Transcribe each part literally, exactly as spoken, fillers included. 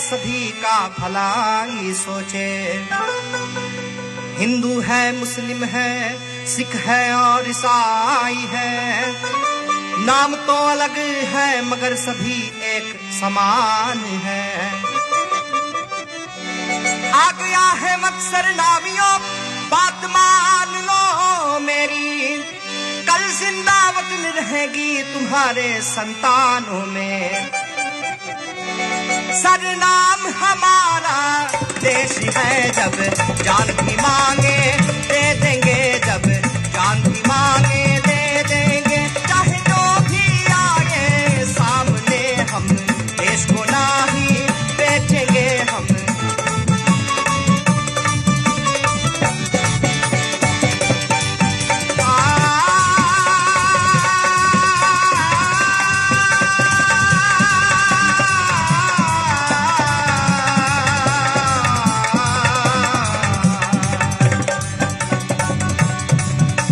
सभी का भलाई सोचे। हिंदू है, मुस्लिम है, सिख है और ईसाई है, नाम तो अलग है मगर सभी एक समान है। आ गया है वक्त सरनामियों, बात मान लो मेरी, कल जिंदा वतन रहेगी तुम्हारे संतानों में। सरनाम हमारा देश है, जब जान भी मांगे दे देंगे, जब जान भी मांगे दे देंगे। चाहे जो भी आए सामने, हम देश को नाही बेचेंगे हम।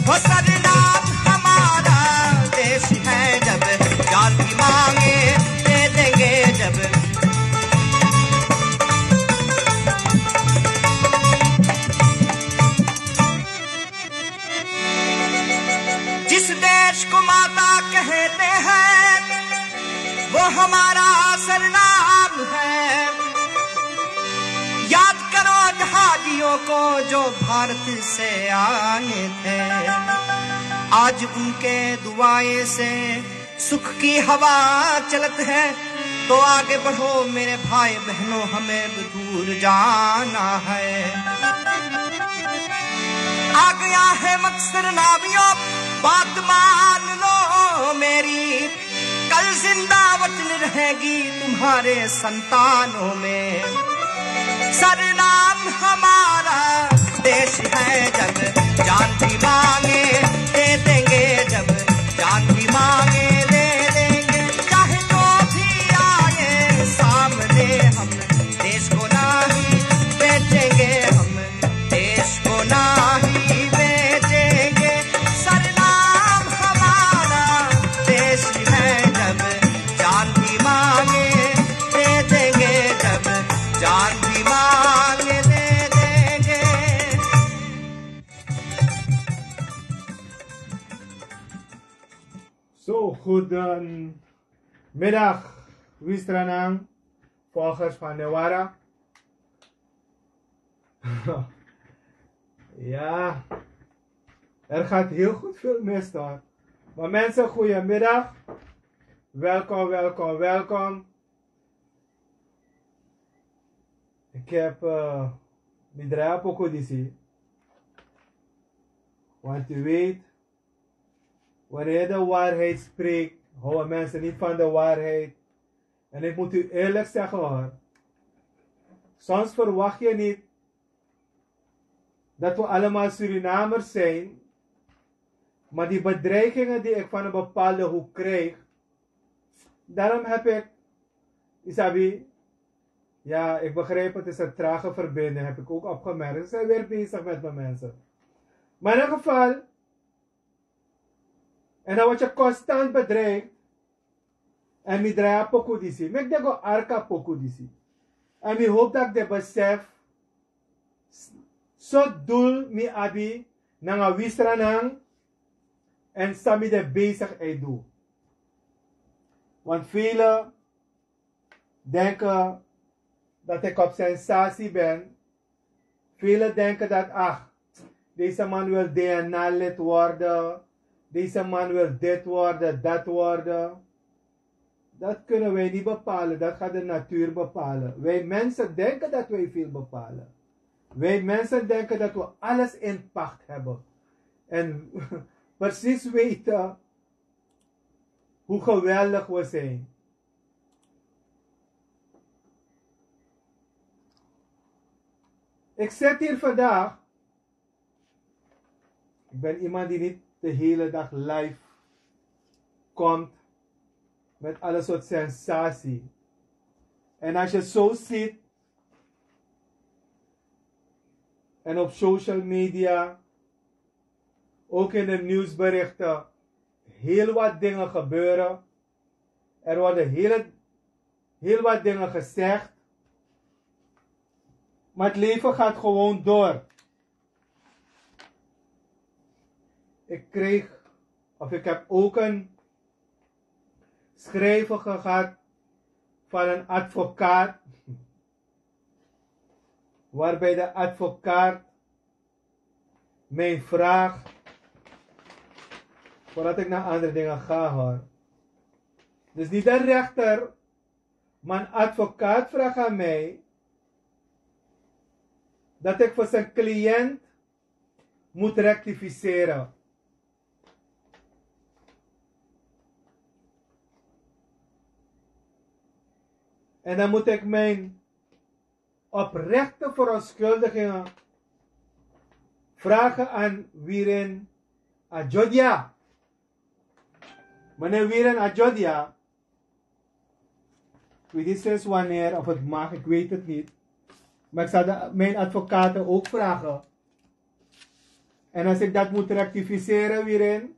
वो सरनाम हमारा देश है, जब जान भी मांगे दे देंगे जब। जिस देश को माता कहते हैं, वो हमारा सरनाम है। याद करो जहाजियों को जो भारत से आए थे, आज उनके दुआएं से सुख की हवा चलत है। तो आगे बढ़ो मेरे भाई बहनों, हमें भी दूर जाना है। आ गया है वक्त सरनामियों, बात मान लो मेरी, कल जिंदा वतन रहेगी तुम्हारे संतानों में। सरनाम हमारा देश है, जब जान भी मांगे दे देंगे, जब जान भी मांगे दे देंगे। चाहे जो भी आए सामने, हम देश को नाही बेचेंगे, हम देश को नाही बेचेंगे। सरनाम हमारा देश है, जब जान भी मांगे दे देंगे, जब जान भी मांगे दे देंगे। So, goedemiddag, Wistranan, volgers van Newara. Ja, er gaat heel goed veel mis, hoor. Maar mensen, goedemiddag. Welkom, welkom, welkom. Ik heb uh, mi drai a poku disi. Want u weet, wanneer je de waarheid spreekt, houden mensen niet van de waarheid. En ik moet u eerlijk zeggen, hoor. Soms verwacht je niet dat we allemaal Surinamers zijn. Maar die bedreigingen die ik van een bepaalde hoek krijg, daarom heb ik, isabi, ja, ik begrijp, het is een trage verbinding, heb ik ook opgemerkt. Ze zijn weer bezig met mijn mensen. Maar in ieder geval, en dan word je constant bedreigd. En mi drai a poku disi. Meki den go arki a poku disi. En mi hoop dat ik den besef. So doel mi abi nanga Wistranan. En san mi de bezig e du. Want velen denken dat ik op sensatie ben. Velen denken dat, ach, deze man wil D N A-lid worden, deze man wil dit worden, dat worden. Dat kunnen wij niet bepalen, dat gaat de natuur bepalen. Wij mensen denken dat wij veel bepalen. Wij mensen denken dat we alles in pacht hebben. En precies weten hoe geweldig we zijn. Ik zit hier vandaag. Ik ben iemand die niet de hele dag live komt met alle soort sensatie. En als je zo ziet, en op social media, ook in de nieuwsberichten, heel wat dingen gebeuren. Er worden heel, heel wat dingen gezegd. Maar het leven gaat gewoon door. Ik kreeg, of ik heb ook een schrijven gehad van een advocaat, waarbij de advocaat mij vraagt, voordat ik naar andere dingen ga, hoor. Dus niet de rechter, maar een advocaat vraagt aan mij dat ik voor zijn cliënt moet rectificeren. En dan moet ik mijn oprechte verontschuldigingen vragen aan Wirin Ajodia. Meneer Wirin Ajodia, ik weet niet sinds wanneer, of het mag, ik weet het niet. Maar ik zal de, mijn advocaten ook vragen. En als ik dat moet rectificeren, Wirin,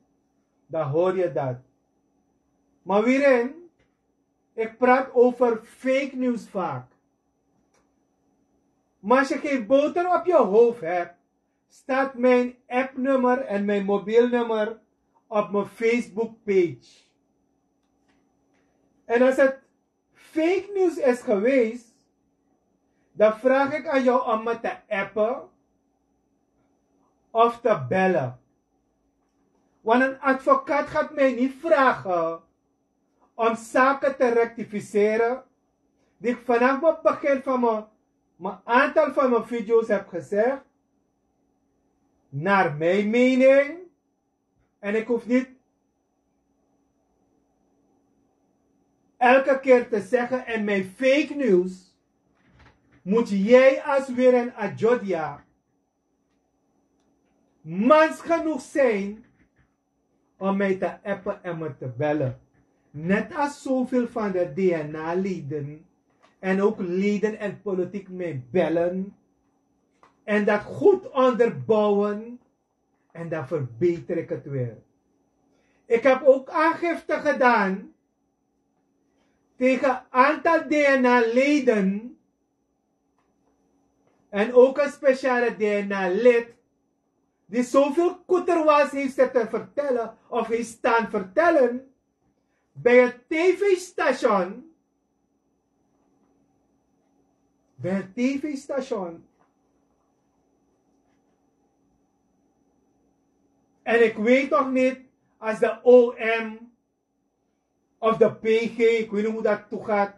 dan hoor je dat. Maar Wirin, ik praat over fake news vaak. Maar als je geen boter op je hoofd hebt, staat mijn appnummer en mijn mobielnummer op mijn Facebook-page. En als het fake news is geweest, dan vraag ik aan jou om me te appen of te bellen. Want een advocaat gaat mij niet vragen om zaken te rectificeren die ik vanaf het begin van mijn, mijn aantal van mijn video's heb gezegd, naar mijn mening. En ik hoef niet elke keer te zeggen: "En mijn fake news", moet jij als Wirin Ajodia mans genoeg zijn om mij te appen en me te bellen. Net als zoveel van de D N A-leden en ook leden en politiek mij bellen en dat goed onderbouwen, en dan verbeter ik het weer. Ik heb ook aangifte gedaan tegen een aantal D N A-leden en ook een speciale D N A-lid die zoveel koeterwals heeft zitten vertellen of heeft staan vertellen bij het tv-station. Bij het tv-station. En ik weet nog niet als de O M of de P G, ik weet niet hoe dat toegaat,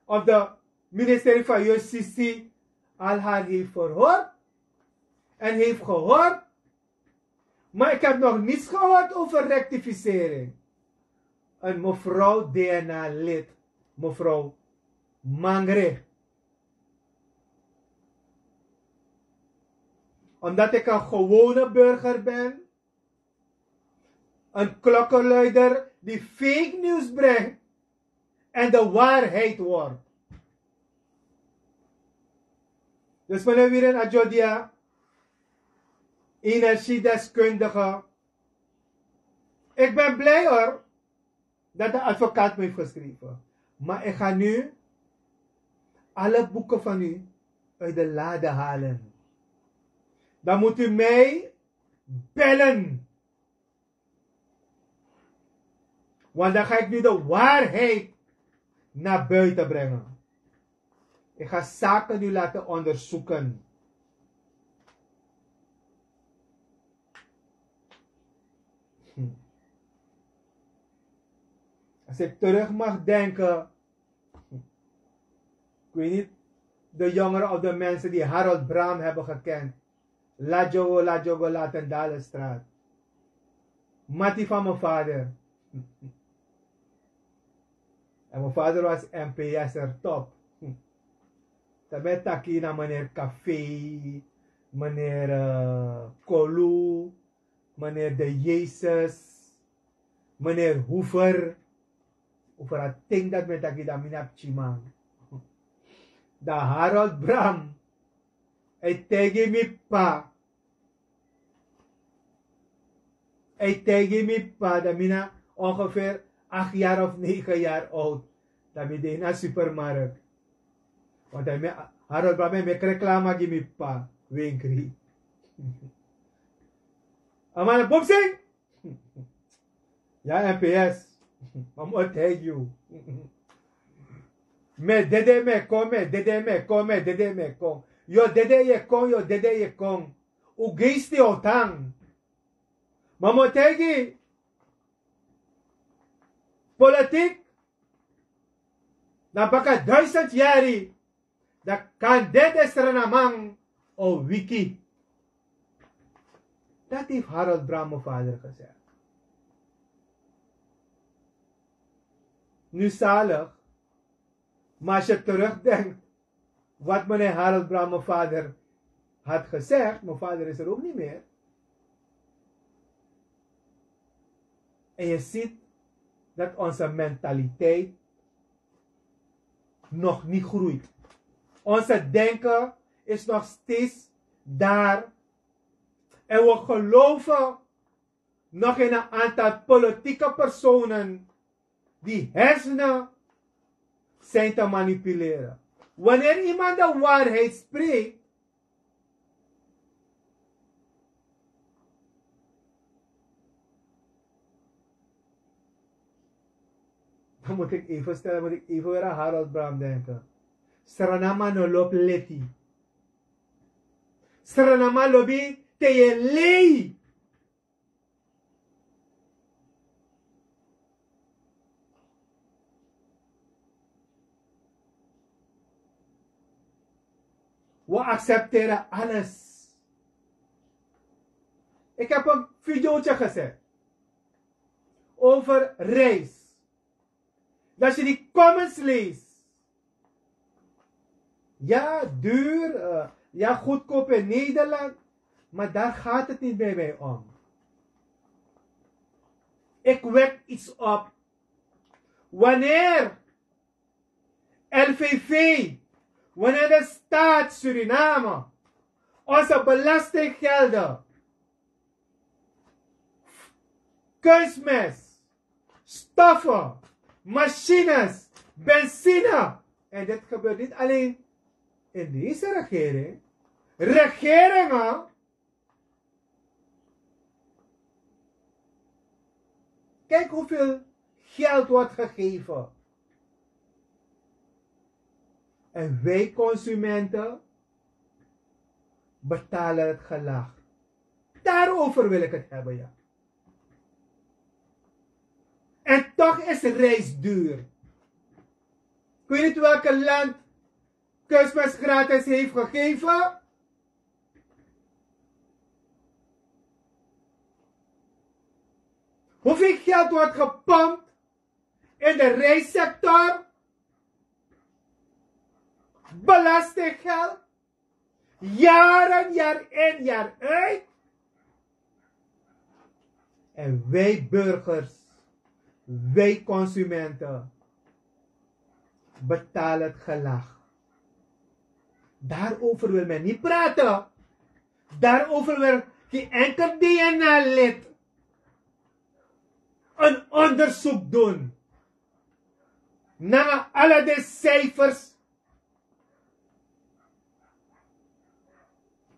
of de ministerie van Justitie al haar heeft verhoord en heeft gehoord. Maar ik heb nog niets gehoord over rectificering. En mevrouw D N A-lid, mevrouw Mangre. Omdat ik een gewone burger ben, een klokkenluider die fake news brengt en de waarheid wordt. Dus meneer Wirin Ajodia, energiedeskundige, ik ben blij hoor dat de advocaat me heeft geschreven. Maar ik ga nu alle boeken van u uit de lade halen. Dan moet u mij bellen. Want dan ga ik nu de waarheid naar buiten brengen. Ik ga zaken nu laten onderzoeken. Hm. Als ik terug mag denken, ik weet niet, de jongeren of de mensen die Harold Bram hebben gekend. Ladjogo, Ladjogo, Latendalenstraat. Mati van mijn vader. En mijn vader was M P S-er top. Dan ben taki na meneer Café, meneer eh, Kolu, meneer De Jezus, meneer Hoever. Over a ting dat men taki dan mi na pikin man. Dan Harold Bram, hij taigi mi pa. Hij taigi mi pa, dan mi na ongeveer acht jaar of negen jaar oud. Dan mi de na supermarkt. Want dan mi a, Harold Bram e meki reklama gi mi p'pa Winkri. A man e bumsing. Ya, M P S. Ma mi o taigi yu. Mi e dede, mi e kon, mi e dede, mi e kon, mi e dede, mi e kon. Yu o dede, yu e kon, yu o dede, yu e kon. Un geest e tan. Ma mi o taigi, politik, na baka duizend yari, dan kan den Srananman o wiki. Dat heeft Harold Bram, mijn vader, gezegd. Nu zalig, maar als je terugdenkt wat meneer Harold Bram, mijn vader, had gezegd, mijn vader is er ook niet meer. En je ziet dat onze mentaliteit nog niet groeit. Onze denken is nog steeds daar. En we geloven nog in een aantal politieke personen die hersenen zijn te manipuleren. Wanneer iemand de waarheid spreekt, dan moet ik even stellen, moet ik even weer aan Harold Bram denken. Srananman no lobi leti. Srananman lobi te yu e lei. We accepteren alles. Ik heb een videootje gezet over reis. Dat je die comments leest. Ja, duur. Eh, ja, goedkoop in Nederland. Maar daar gaat het niet bij mij om. Ik wek iets op. Wanneer L V V, wanneer de staat Suriname onze belastinggelden, kunstmest, stoffen, machines, benzine. En dit gebeurt niet alleen in deze regering. Regeringen, kijk hoeveel geld wordt gegeven. En wij consumenten betalen het gelag. Daarover wil ik het hebben, ja. En toch is reis duur. Ik weet niet welke land kunstmest gratis heeft gegeven. Hoeveel geld wordt gepompt in de reissector? Belastinggeld. Jaren, jaar in, jaar uit. En wij burgers, wij consumenten, betalen het gelag. Daarover wil men niet praten. Daarover wil geen enkel D N A-lid een onderzoek doen naar alle de cijfers.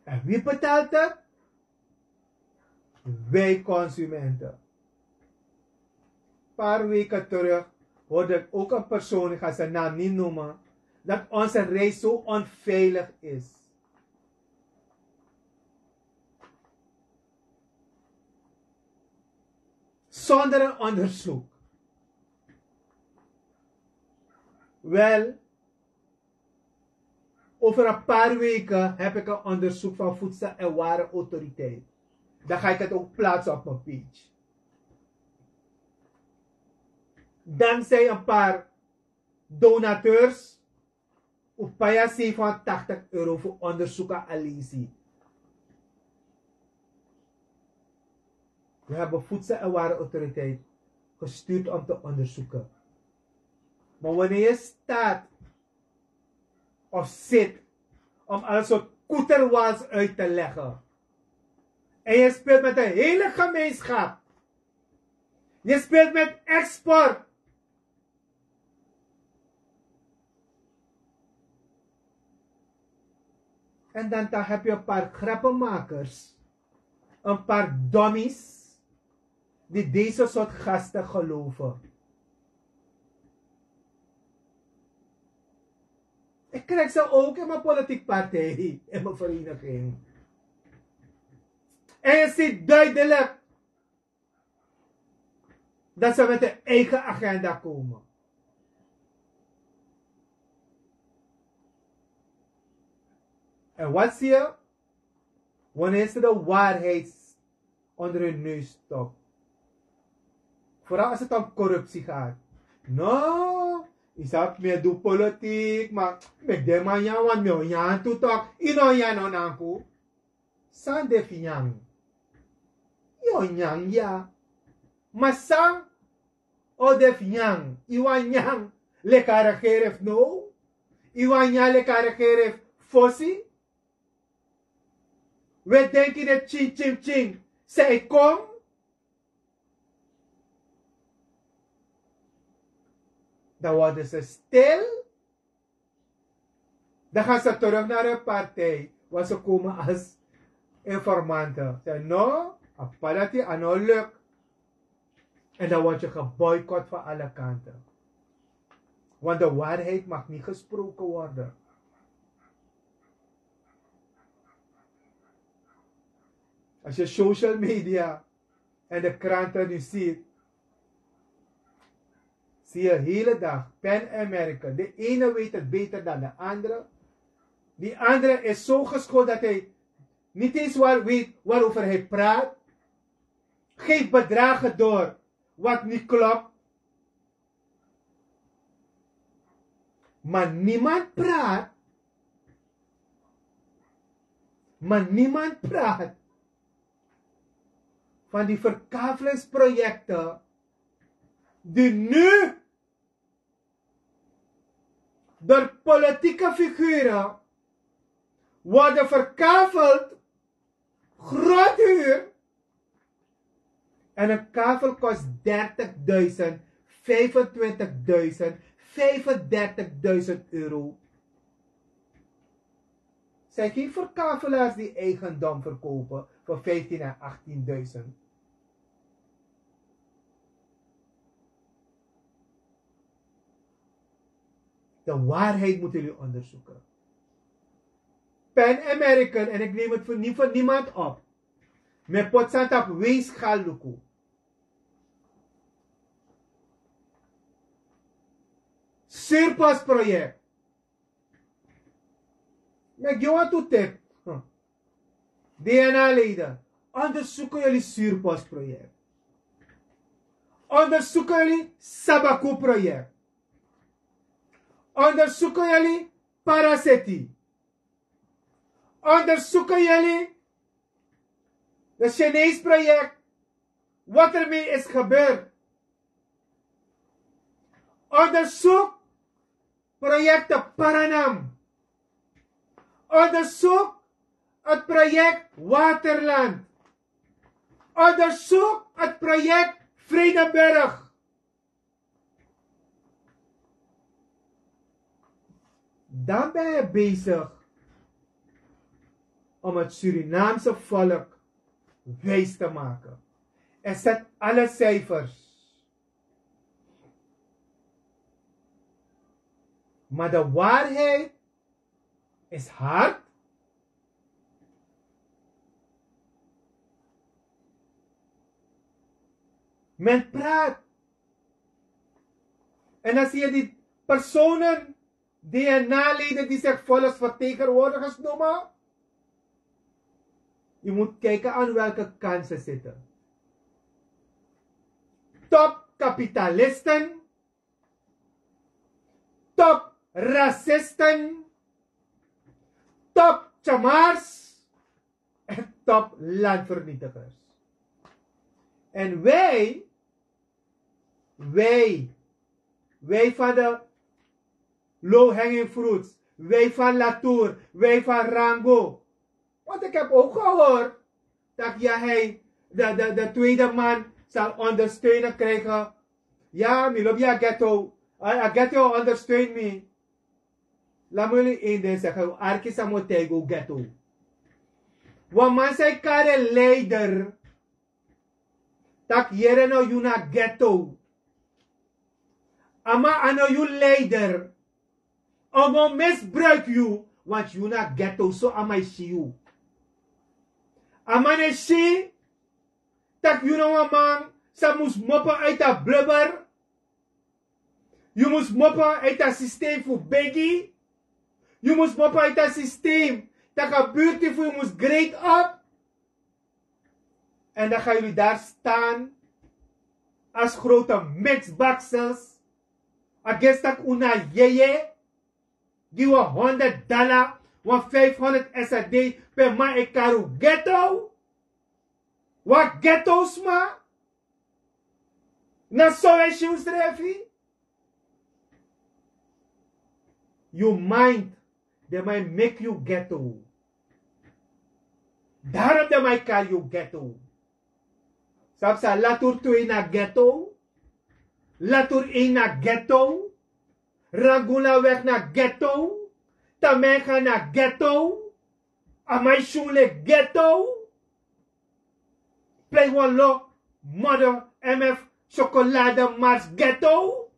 En wie betaalt het? Wij consumenten. Een paar weken terug hoorde ik ook een persoon, ik ga zijn naam niet noemen, dat onze reis zo onveilig is. Zonder een onderzoek. Wel, over een paar weken heb ik een onderzoek van Voedsel- en Warenautoriteit. Dan ga ik het ook plaatsen op mijn page. Dankzij een paar donateurs, un pai a zevenhonderdtachtig euro fu onderzoek a alisi. We hebben Voedsel- en Warenautoriteit gestuurd om te onderzoeken. Maar wanneer je staat of zit om alles soort koeterwals uit te leggen en je speelt met de hele gemeenschap, je speelt met export. En dan dan heb je een paar grappenmakers, een paar dommies die deze soort gasten geloven. Ik krijg ze ook in mijn politiek partij, in mijn vereniging. En je ziet duidelijk dat ze met hun eigen agenda komen. En wat zie je? Wanneer ze de waarheid onder hun neus stopt. Vooral als het om corruptie gaat. No, isap me do politiek, maar met de man ya want me onyan tu tok. Ino ya no nanku. San de finyang. Yo nyang ya. Maar san o de finyang. Iwan nyang. Leka regering no. Iwan nyang leka regering fosi. We denki de chin chin chin. Zij kom. Dan worden ze stil. Dan gaan ze terug naar hun partij, waar ze komen als informanten. Ze no, a padati a no luk. En dan word je geboycott van alle kanten. Want de waarheid mag niet gesproken worden. Als je social media en de kranten nu ziet, zie je hele dag Pan American. De ene weet het beter dan de andere. Die andere is zo geschoold dat hij niet eens waar weet waarover hij praat. Geeft bedragen door wat niet klopt. Maar niemand praat. Maar niemand praat van die verkavelingsprojecten die nu door politieke figuren worden verkaveld, groot huur. En een kavel kost dertigduizend, vijfentwintigduizend, vijfendertigduizend euro. Zijn geen verkavelaars die eigendom verkopen voor vijftien en achttienduizend. De waarheid moeten jullie onderzoeken. Pan American, en ik neem het voor, niet voor niemand op. Me poti san tapu weegschaal luku. Surplus project. Me gi wan tu tip. Hm. D N A-leden, onderzoeken jullie surplus project. Onderzoeken jullie Sabaku project. Onderzoeken jullie Paracity. Onderzoeken jullie de Chinees project, wat ermee is gebeurd. Onderzoek projecten Paranam. Onderzoek het project Waterland. Onderzoek het project Vredenburg. Dan ben je bezig om het Surinaamse volk wijs te maken. En zet alle cijfers. Maar de waarheid is hard. Men praat. En dan zie je die personen, D N A-leden die zich volksvertegenwoordigers noemen. Je moet kijken aan welke kant ze zitten. Topkapitalisten, topracisten, topchamars en toplandvernietigers. En wij, wij, wij van de low hanging fruits, wij van Latour, wij van Rango. Want ik heb ook gehoord dat ja, hij, de, de, de tweede man zal ondersteunen krijgen. Ja, mi lobi a ghetto. A, a ghetto ondersteunt me. Lamuli inde saka yu arki samotaigo geto. Wan man sai kare leider. Tak yere no yu na geto. Ama ano yu leider. Omo misbruik yu. Want yu na geto so ama isi yu. Ama ne si. Tak yu na wan man sa mus mopo uit a blubber. Yu mus mopo uit a systeem fu begi. Yu mus mopo uit a systeem. Tak a buurti fu yu mus great op. En dan ga yuli daar staan als grote mixbaksels. Agestak una yeye. Gi wan honderd dala, wan vijfhonderd srd. Per man e karu ghetto. Wan ghetto sma. Na so we si unsrefi. Yu mind. Den man e meki yu ghetto. Daarom den man e kari yu ghetto. Sabi san, latur tu ini a ghetto. Latur ini a ghetto. Ranguna weg na ghetto. Tamenga na ghetto. Amai sunle ghetto. Plei wan lo modder mf chocolade mars ghetto.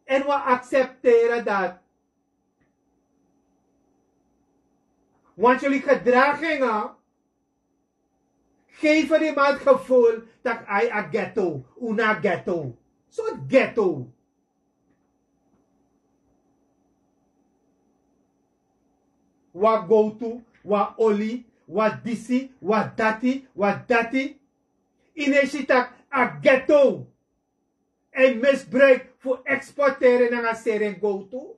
En wi aksepteren dat. Want jullie gedragingen geven iemand gevoel dat hij a ghetto, una ghetto. Soort ghetto. Wan gowtu, wan oli, wan disi, wan dati, wan dati. Yu no e si tak' a ghetto e misbruik fu eksporteren nanga seri en gowtu.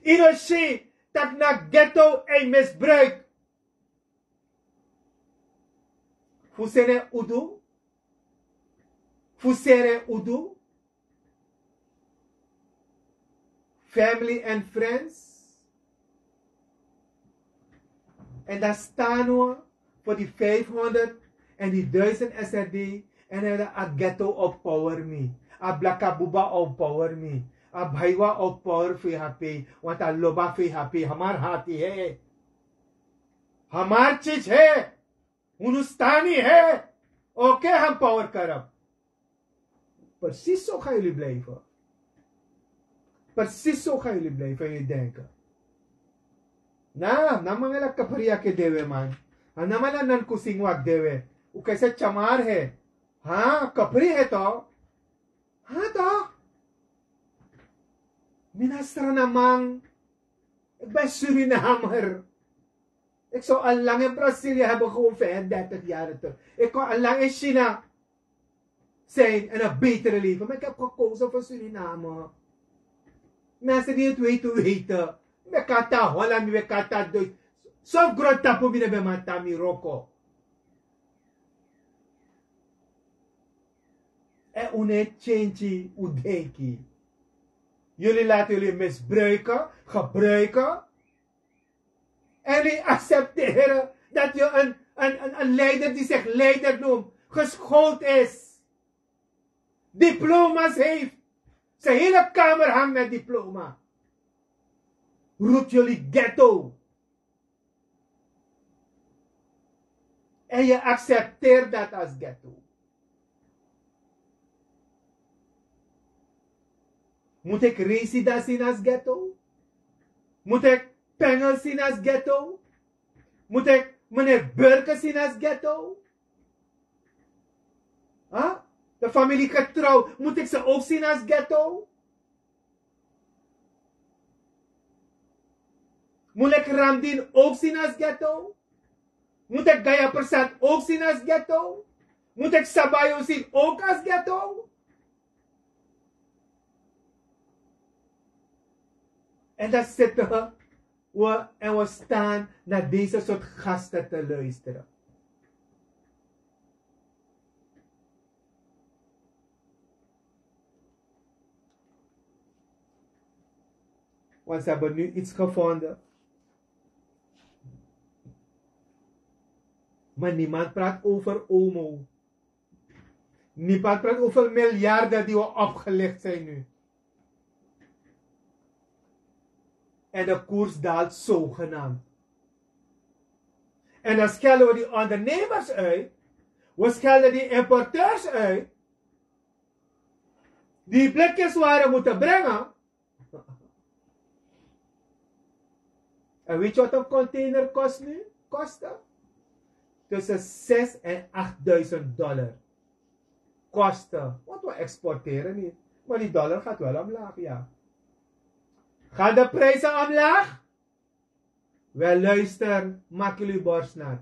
Yu no e si tak' na ghetto e misbruik fu seni en udu, fu seri en udu. Family and friends. En dan staan we voor die vijfhonderd en die duizend srd. En dan a ghetto op power me. A blakabuba op power me. A baiwa op power vhp. Want a loba vhp. Hamar hati he. Hamar chich he. Unu stani he. Oke, han power karab. Precies zo gaan jullie blijven. Precies zo gaan jullie blijven in je denken. Na, na mangala kapri ake dewe man. A na mala nan kusing wak dewe. Uke se chamar he. Ha, kapri he to. Ha to. Mina strana man. Ik ben Surinamer. Ik zou al lang in Brazilië hebben gewoond, vijfendertig jaar terug. Ik kon al lang in China zijn en een betere leven. Maar ik heb gekozen voor Suriname. Mensen die het weten, weten. Mi kan tan Holland, mi kan tan Duits. Sof grondtapu mi no ben man tan mi wroko. En un no e change un denki. Jullie laten jullie misbruiken, gebruiken. En jullie accepteren dat je een, een, een, een leider die zich leider noemt, geschoold is, diploma's heeft, zijn hele kamer hangt met diploma. Roept jullie ghetto. En je accepteert dat als ghetto. Moet ik Resida zien als ghetto? Moet ik Pengel zien als ghetto? Moet ik meneer Burke zien als ghetto? Huh? De familie Getrouw, moet ik ze ook zien als ghetto? Moet ik Ramdin ook zien als ghetto? Moet ik Gaya Persat ook zien als ghetto? Moet ik Sabayo zien ook als ghetto? En dan zitten we en we staan naar deze soort gasten te luisteren. Want ze hebben nu iets gevonden. Maar niemand praat over omo. Niemand praat over miljarden die we opgelicht zijn nu. En de koers daalt zogenaamd. En dan schelden we die ondernemers uit. We schelden die importeurs uit. Die blikjes waren moeten brengen. En weet je wat een container kost nu? Kosten? Tussen zes en achtduizend dollar. Kosten. Want we exporteren niet. Maar die dollar gaat wel omlaag, ja. Gaan de prijzen omlaag? Wel, luister, maak jullie borst nat.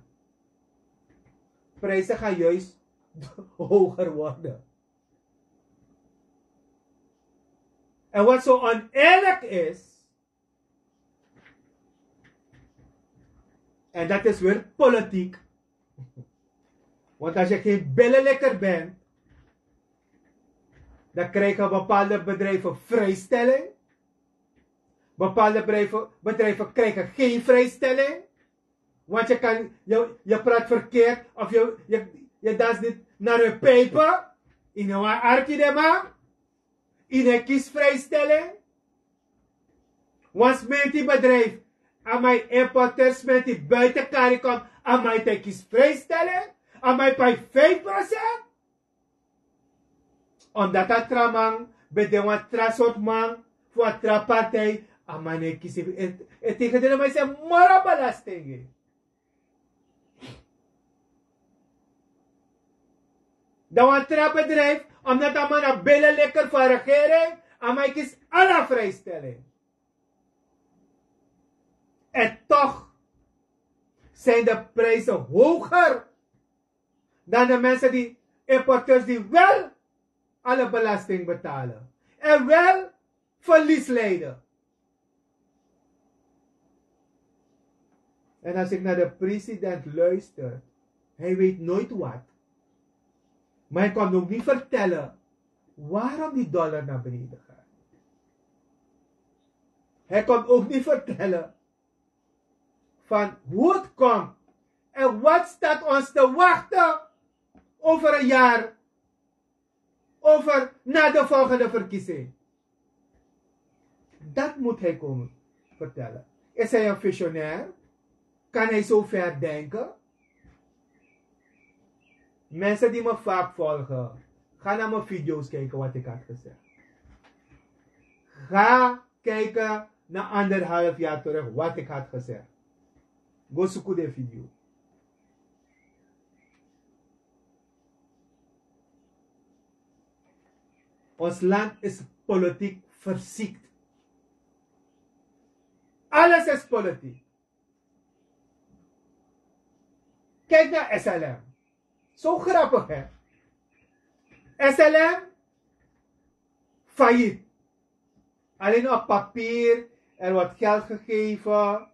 Prijzen gaan juist hoger worden. En wat zo oneerlijk is, en dat is weer politiek. Want als je geen billenlikker bent, dan krijgen bepaalde bedrijven vrijstelling. Bepaalde bedrijven, bedrijven krijgen geen vrijstelling. Want je kan, je, je praat verkeerd of je, je, je danst niet naar hun pijpen. In een arki de man. In een kiesvrijstelling. Want smeti bedrijf, amai importeur smeti buiten CARICOM, amai te kiesvrijstelling, amai pai vijf procent. Omdat a tra man ben de wan tra sort man fu a tra partij, a man e kisi e tegen de man se moro belasting. Dan wan tra bedrijf, omdat a man a billen lekker van regering, a man e kisi ala vrijstelling. En toch zijn de prijzen hoger dan de mensen die, importeurs die wel alle belasting betalen en wel verlies lijden. En als ik naar de president luister, hij weet nooit wat. Maar hij komt ook niet vertellen waarom die dollar naar beneden gaat. Hij komt ook niet vertellen van hoe het komt en wat staat ons te wachten over een jaar, over na de volgende verkiezing. Dat moet hij komen vertellen. Is hij een visionair? Kan hij zo ver denken? Mensen die me vaak volgen, ga naar mijn video's kijken wat ik had gezegd. Ga kijken naar anderhalf jaar terug wat ik had gezegd. Go suku de video. Ons land is politiek verziekt. Alles is politiek. Kijk naar S L M. Zo grappig, hè? S L M failliet. Alleen op papier, er wordt geld gegeven.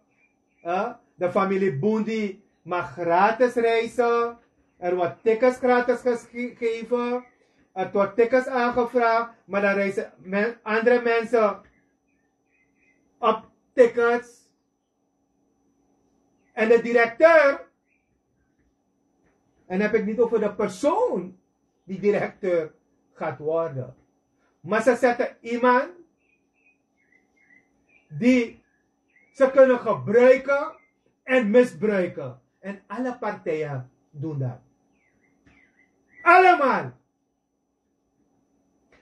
Hè? De familie Boendi mag gratis reizen. Er wordt tickets gratis gegeven. Er wordt tickets aangevraagd, maar dan reizen men, andere mensen op tickets. En de directeur, en heb ik niet over de persoon die directeur gaat worden. Maar ze zetten iemand die ze kunnen gebruiken en misbruiken. En alle partijen doen dat. Allemaal.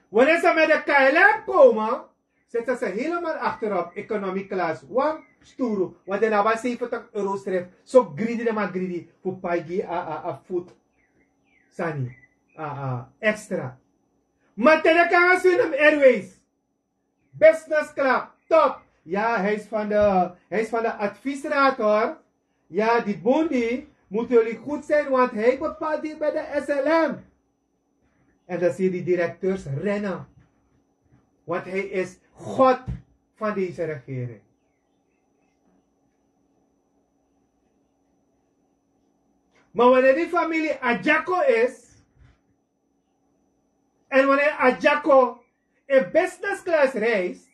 Wanneer ze met de K L M komen, zitten ze helemaal achterop, economie class. Wan sturu, want de na wan zeventig euro schrift. Zo greedy de man greedy, voor pai gi a, a, a food. Sani, a, a, extra. Maar te de kan Suriname Airways. Business club, top. Ja, hij is van de, hij is van de adviesraad, hoor. Ja, die Bondi, moeten jullie goed zijn, want hij bepaalt hier bij de S L M. En dan zie je die directeurs rennen. Want hij is God van deze regering. Maar wanneer die familie Adjako is, en wanneer Adjako in business class reist,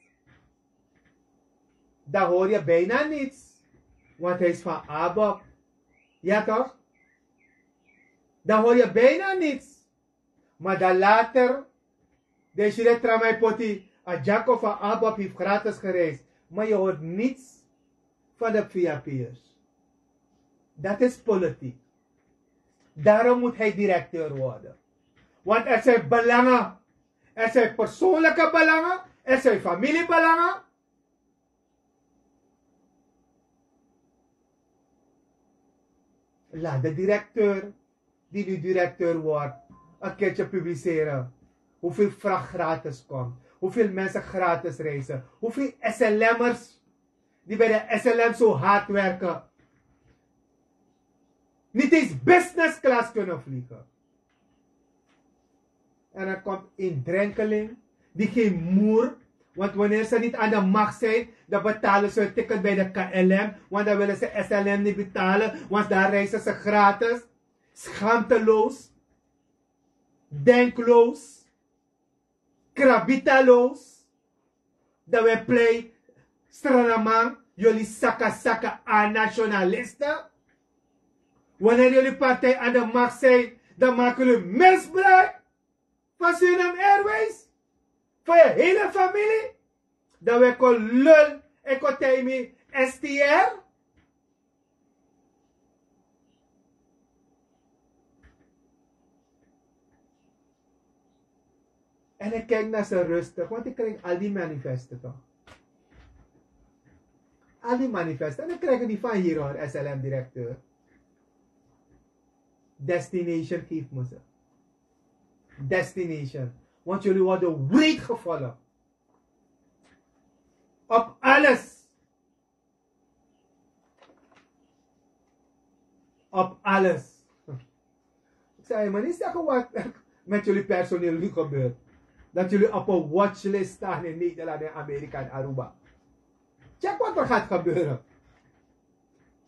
dan hoor je bijna niets. Want hij is van ABOP. Ja, toch? Dan hoor je bijna niets. Maar dan later, dan zie je dat Tramai Poti, Adjako van ABOP heeft gratis gereisd. Maar je hoort niets van de V I P'ers. Dat is politiek. Daarom moet hij directeur worden. Want er zijn belangen. Er zijn persoonlijke belangen. Er zijn familiebelangen. Laat de directeur, die nu directeur wordt, een keertje publiceren. Hoeveel vracht gratis komt. Hoeveel mensen gratis reizen. Hoeveel S L M'ers die bij de S L M zo hard werken, niet eens business class kunnen vliegen. En er komt een drenkeling die geen moer. Want wanneer ze niet aan de macht zijn, dan betalen ze hun ticket bij de K L M. Want dan willen ze S L M niet betalen, want daar reizen ze gratis. Schaamteloos. Denkloos. Krabitaloos. Dan we plei Sranaman, jullie saka saka aan nationalisten. Wanneer jullie partij aan de macht zijn, dan maken jullie misbruik van Suriname Airways. Van je hele familie. Dan we kon lul en kon tegen mi S T R. En ik kijk naar ze rustig, want ik krijg al die manifesten toch. Al die manifesten. En ik krijg die van hier hoor, S L M-directeur. Destination geeft me ze. Destination. Want jullie worden wreed gevallen. Op alles. Op alles. Ik zei, maar niet zeggen wat met jullie personeel nu gebeurt. Dat jullie op een watchlist staan in Nederland en Amerika en Aruba. Check wat er gaat gebeuren.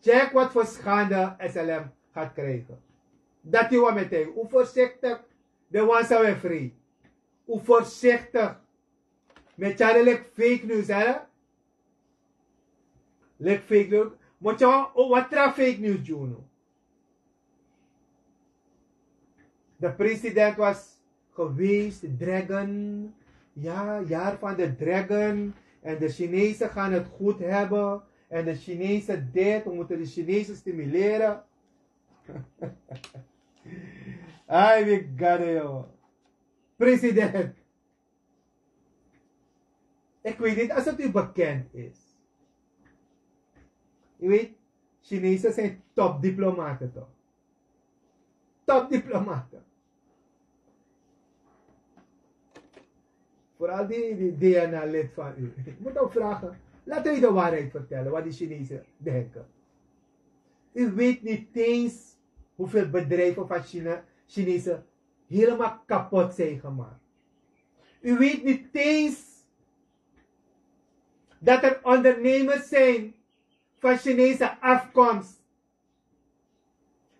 Check wat voor schande S L M gaat krijgen. Dat u wat meteen. Hoe voorzichtig de wan zou free. Hoe voorzichtig. Met jaren like fake news, hè? Like fake news. Moet je o wat tra fake news doen. De president was geweest, dragon. Ja, jaar van de dragon. En de Chinezen gaan het goed hebben. En de Chinezen dit, we moeten de Chinezen stimuleren. Ai, we gado, joh. President. Ik weet niet als het u bekend is. U weet, Chinezen zijn topdiplomaten toch? Topdiplomaten. Vooral die, die D N A-lid van u. Ik moet hem vragen. Laat hij de waarheid vertellen, wat die Chinezen denken. U weet niet eens hoeveel bedrijven van China, Chinezen helemaal kapot zijn gemaakt. U weet niet eens dat er ondernemers zijn van Chinese afkomst.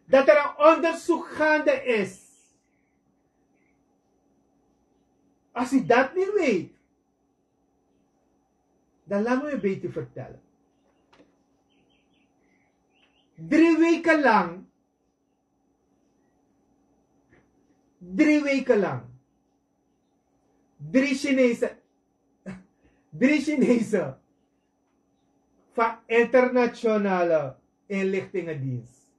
Dat er een onderzoek gaande is. Als u dat niet weet, dan laat me u een beetje vertellen. Drie weken lang Drie weken lang. Drie Chinese. Drie Chinese. Van internationale inlichtingendienst.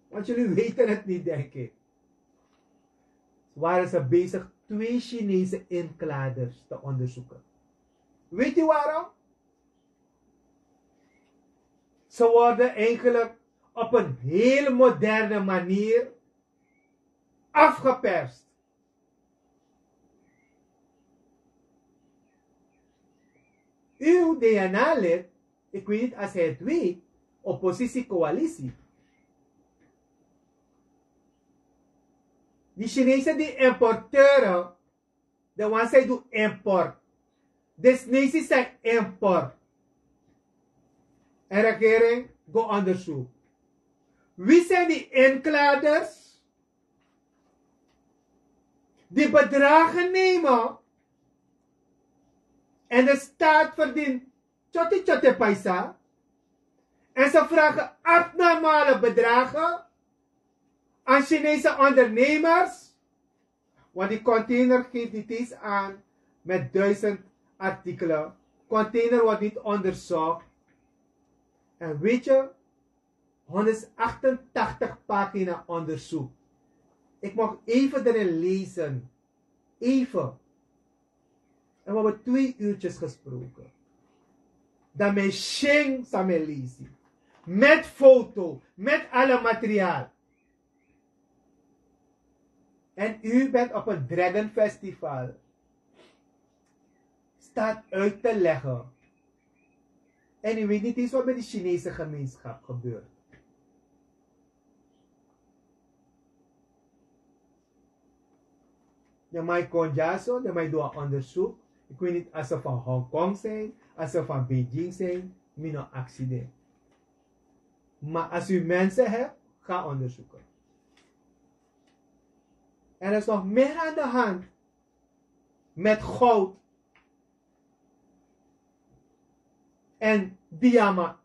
Want jullie weten het niet, denk ik. Waren ze bezig twee Chinese inkladers te onderzoeken. Weet u waarom? Ze worden eigenlijk op een heel moderne manier afgeperst. Uw D N A-lid, ik weet niet als hij het weet, oppositiecoalitie. Die Chinezen die importeren, de wan san e du import. Desnesi san e import. En regering go onderzoek. Wie zijn die inkladers die bedragen nemen en de staat verdient tjotte tjotte paisa en ze vragen abnormale bedragen aan Chinese ondernemers. Want die container geeft niet eens aan met duizend artikelen. container wordt niet onderzocht. En weet je, honderdachtentachtig pagina onderzoek. Ik mocht even erin lezen. Even. En we hebben twee uurtjes gesproken. Dan mijn shing san mijn lezen. Met foto, met alle materiaal. En u bent op een Dragon Festival staat uit te leggen. En u weet niet eens wat met de Chinese gemeenschap gebeurt. De man kon dyaso, de man doet een onderzoek. Ik weet niet als ze van Hongkong zijn, als ze van Beijing zijn, mino accident. Maar als u mensen hebt, ga onderzoeken. Er is nog meer aan de hand met goud en diamant.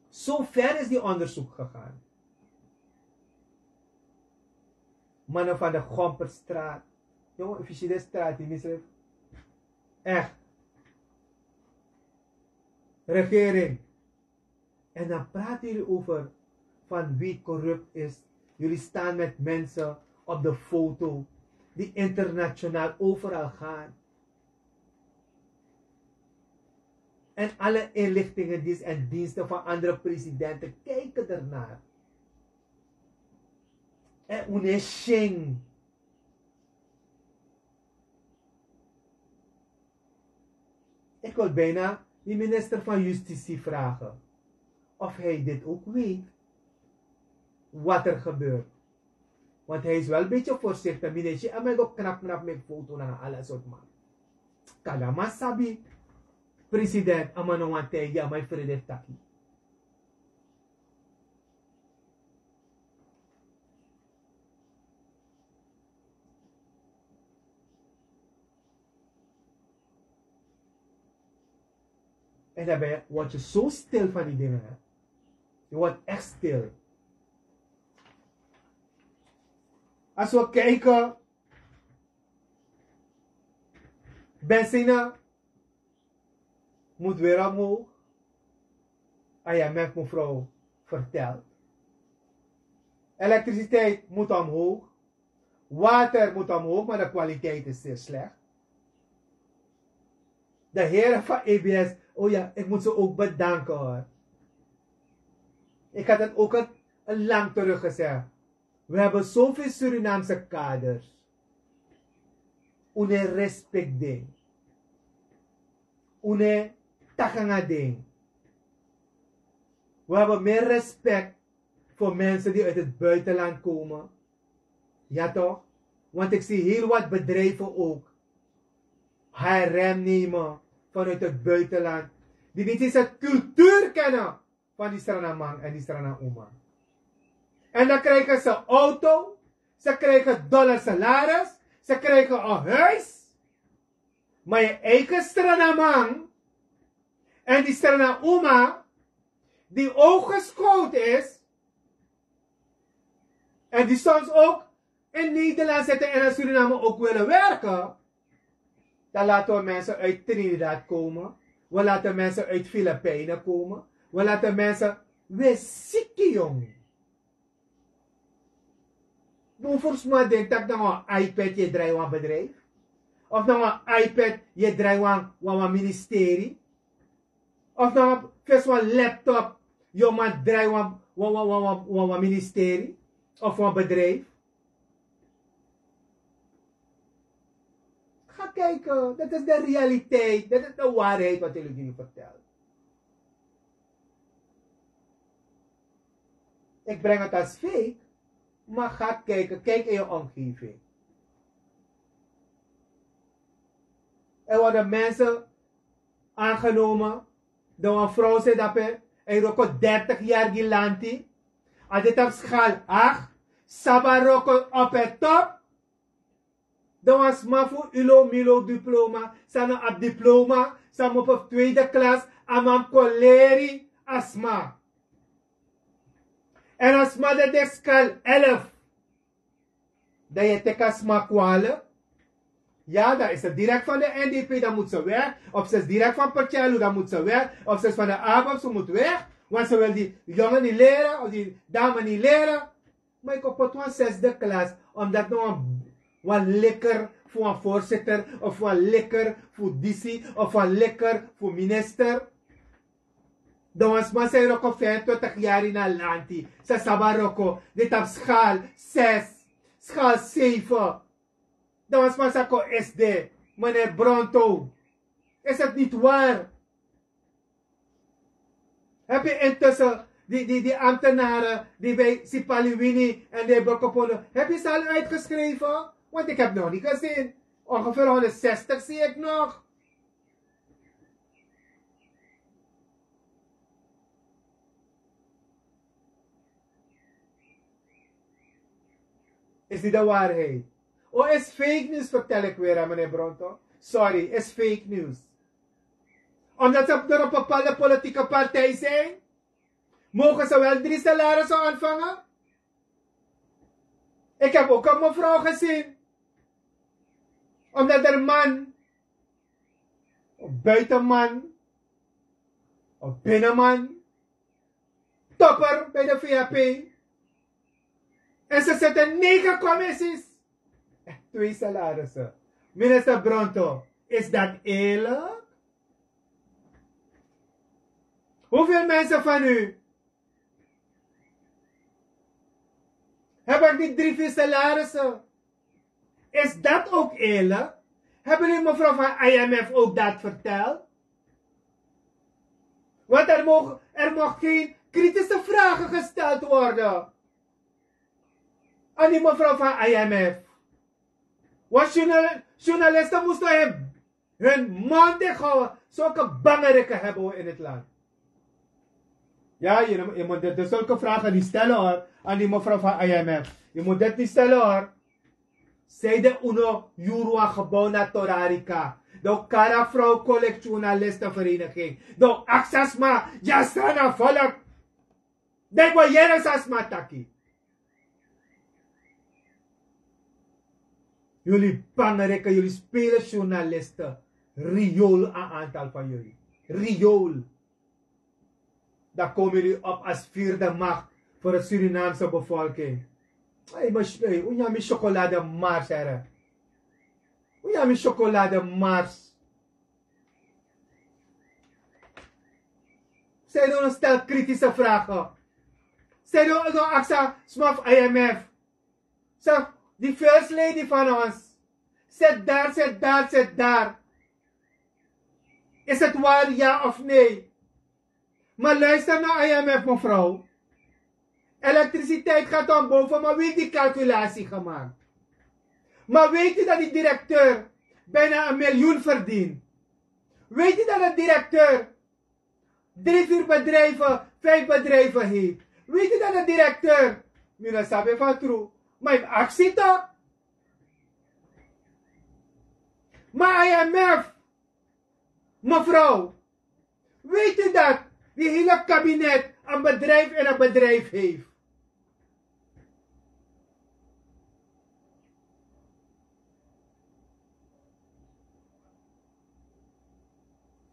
Zo ver is die onderzoek gegaan. Mannen van de Gomperstraat. Jongen, officiële straat, die misrif. Echt. Regering. En dan praten jullie over van wie corrupt is. Jullie staan met mensen op de foto die internationaal overal gaan. En alle inlichtingendiensten en diensten van andere presidenten kijken ernaar. En un no e sing. Ik wil bijna die minister van Justitie vragen of hij dit ook weet, wat er gebeurt. Want hij is wel een beetje voorzichtig. Minister, en mij go knap knap met foto na alles soort man. Kadama sabi, president, ama no wan tijgi, ama vrede taki. En daarbij word je zo stil van die dingen. Hè? Je wordt echt stil. Als we kijken, benzine moet weer omhoog. I M F mevrouw vertelt. Elektriciteit moet omhoog. Water moet omhoog, maar de kwaliteit is zeer slecht. De heren van E B S, oh ja, ik moet ze ook bedanken hoor. Ik had het ook een, een lang terug gezegd. We hebben zoveel Surinaamse kaders. Un no e respect den. Un no e taki nanga den. We hebben meer respect voor mensen die uit het buitenland komen. Ja toch? Want ik zie heel wat bedrijven ook H R M nemen vanuit het buitenland. Die niet eens het cultuur kennen van die Sranan man en die Sranan oma. En dan krijgen ze auto, ze krijgen dollar salaris, ze krijgen een huis. Maar je eigen Sranan man en die Sranan oma, die ook geschoold is, en die soms ook in Nederland zitten en in Suriname ook willen werken, dan laten we mensen uit Trinidad komen. We laten mensen uit Filipijnen komen. We laten mensen, we zieke jong. Bun fu sma denki tak' na wan iPad yu e drai wan bedrijf. Of na wan iPad yu e drai wan, wan, wan ministeri. Of na wan fesi wan laptop yu o man drai wan, wan, wan, wan, wan, wan, wan ministeri of wan bedrijf. Ga kijken, dat is de realiteit, dat is de waarheid wat ik jullie vertel. Ik breng het als fake, maar ga kijken, kijk in je omgeving. Er worden mensen aangenomen, dan wan vrouw se dape, en roko dertig jaar gi lanti, a dit op schaal acht, sabaroko op het top, dan wan sma fu ilo milo diploma, san no abi diploma, san mupu fu tweede klas, a man kon leri a sma. En a sma de de schaal elf. Dan yu e teki a sma kwale. Ja, dan is het direct van de N D P, dan moet ze weg. Of ze is direct van Percello, dan moet ze weg. Of ze is van de ABOP, ze moet weg. Want ze wil die jongen niet leren, of die dame niet leren. Maar ik op het wan zesde klas, omdat no wan lekker voor een voorzitter, of wan lekker voor D C, of wan lekker voor minister. Dan wan sma san e wroko vijfentwintig yari na lanti, san sabi a wroko, den tapu schaal zes, schaal zeven. Dan wan sma sa kon S D, meneer Bronto. Is het niet waar? Heb je intussen die, die, die ambtenaren die bij Sipaliwini en de Bokopono, heb je ze al uitgeschreven? Want ik heb nog niet gezien. Ongeveer honderdzestig zie ik nog. Is dit de waarheid? O, is fake news, vertel ik weer aan meneer Bronto. Sorry, is fake news. Omdat ze door een bepaalde politieke partij zijn, mogen ze wel drie salarissen ontvangen. Ik heb ook een mevrouw gezien, omdat haar man, een buitenman, een binnenman, topper bij de V H P. En ze zitten negen commissies. Echt twee salarissen. Minister Bronto, is dat eerlijk? Hoeveel mensen van u hebben die drie, vier salarissen? Is dat ook eerlijk? Hebben jullie mevrouw van I M F ook dat verteld? Want er mogen, er mogen geen kritische vragen gesteld worden aan die mevrouw van I M F. Want journal-, journalisten moesten hun, hun mond dicht houden. Zulke bange rikken hebben we in het land. Ja, je, je moet dit, dit zulke vragen niet stellen, hoor, aan die mevrouw van I M F. Je moet dit niet stellen, hoor. Zij de uno yurua gebouw na Torarika. De Kara Vrouw Collect Journalistenvereniging. De Aksasma, Jasana Volk. De Boyere Sasma taki. Jullie bangerikken, jullie spelen journalisten. Riool, een aantal van jullie. Riool. Dan komen jullie op als vierde macht voor de Surinaamse bevolking. Hey, maar hey, hoe je mijn chocolade mars, hè? Hoe je mijn chocolade mars? Zij doen een stel kritische vragen. Zij doen een actie, smaf I M F. Zeg, die first lady van ons zit daar, zit daar, zit daar. Is het waar, ja of nee? Maar luister naar I M F, mevrouw. Elektriciteit gaat omhoog, maar wie heeft die calculatie gemaakt? Maar weet u dat die directeur bijna een miljoen verdient? Weet u dat de directeur drie, vier bedrijven, vijf bedrijven heeft? Weet u dat de directeur, mi no sabi fa tru, maar heeft actie toch? Maar I M F, mevrouw, weet u dat die hele kabinet een bedrijf in een bedrijf heeft?